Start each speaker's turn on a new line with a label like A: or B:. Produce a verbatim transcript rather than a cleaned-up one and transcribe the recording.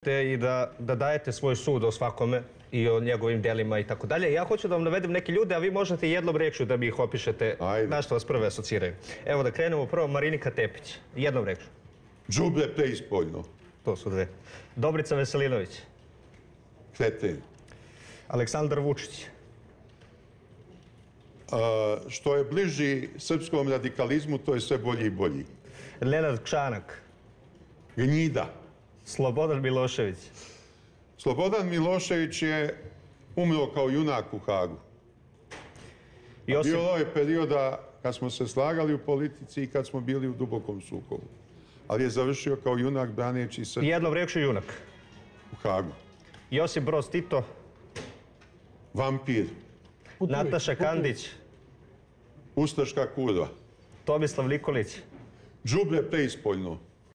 A: i da, da dajete svoj sud o svakome i o njegovim delima i tako dalje. Ja hoću da vam navedem neke ljude, a vi možete jednom rečju da mi ih opišete. Ajde. Na što vas prve asociraju. Evo da krenemo prvo, Marinika Tepić. Jednom rečju.
B: Đubre preispoljno.
A: To su dve. Dobrica Veselinović.
B: Kreten.
A: Aleksandar Vučić.
B: A, što je bliži srpskom radikalizmu, to je sve bolji i bolji.
A: Nenad Kšanak.
B: Gnjida.
A: Slobodan Milošević.
B: Slobodan Milošević je umro kao junak u Hagu. Josip... Bilo je perioda kad smo se slagali u politici i kad smo bili u dubokom sukobu. Ali je završio kao junak braneći Srbiju.
A: Jednom rečju junak.
B: U Hagu.
A: Josip Broz Tito.
B: Vampir.
A: Nataša Kandić.
B: Ustaška kurva.
A: Tomislav Nikolić.
B: Đubre preispoljno.